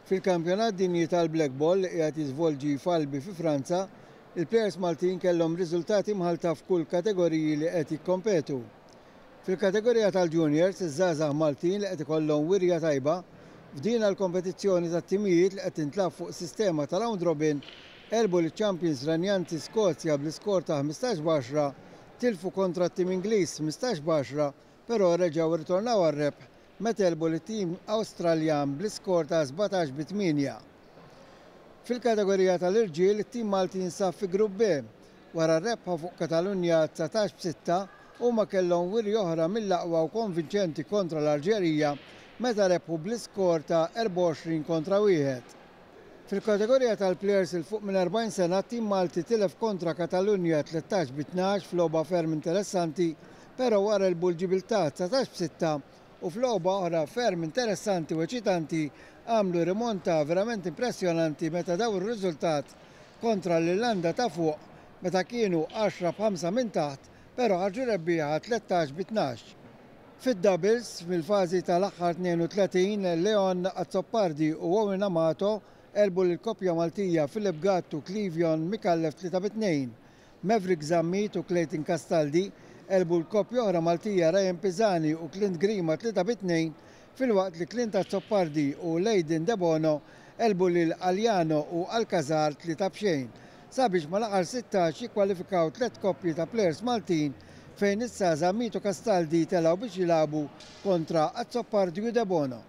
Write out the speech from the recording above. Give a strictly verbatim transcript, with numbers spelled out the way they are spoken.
Fil-Kampjonat Dinji tal-Black Ball li qiegħed jiżvolġi f'Albi fi Franza, il-plejers Maltin kellhom riżultati mħalta f'kull kategoriji li qed jikkompetu. Fil-kategorija tal-Juniors, iż-żgħażagħ Maltin li qed ikollhom wirja tajba f'din l-kompetizzjoni tat-timijiet li qed tintlagħab fuq sistema ta' round robin għelbu l-Champions renjanti Skozja bl-iskor ta' ħmistax b'għaxra, tilfu kontra t-tim Ingliż ħmistax b'għaxra, però reġgħu rritornaw għar-rebħ meta għelbu lit-tim Awstraljan bl-iskor ta' sbatax bi tmienja. Fil-kategorija tal-irġiel, it-tim Malti jinsab fi Grupp B. Wara r-rebħa fuq Katalunja dsatax b'sitta, huma kellhom wirja oħra mill-aqwa u konvinċenti kontra l-Alġerija meta rebħu bl-iskor ta' erbgħa u għoxrin kontra wieħed. Fil-kategorija tal-plejers il fuq minn erbgħin sena, t-tim Malti tilef kontra Katalunja tlettax bi tnax f'logħba ferm interessanti, però wara għelbu l-Ġibiltà dsatax b'sitta u f'logħba oħra ferm interessanti u eċitanti għamlu rimonta verament impressjonanti meta daw ir-riżultat kontra l-Irlanda ta' fuq meta kienu għaxra b'ħamsa minn taħt, però ħarġu rebbieħa tlettax bi tnax. Fid-doubles, fil-fażi tal-aħħar tnejn u tletin, Leon Azzopardi u Owen Amato għelbu lill-koppja Maltija Philip Gatt u Clevion Micallef tlieta bi tnejn. Maverick Zammit u Clayton Castaldi għelbu l-koppja oħra Maltija Ryan Pisani u Clint Grima tlieta bi tnejn, filwaqt li Clint Azzopardi u Leiden Debono għelbu lil Aliano u Alcazar tlieta b'xejn, sabiex mal-aħħar sittax jikkwalifikaw tliet koppji ta' plejers Maltin fejn issa Zammit u Castaldi telgħu biex jilagħbu kontra Azzopardi u Debono.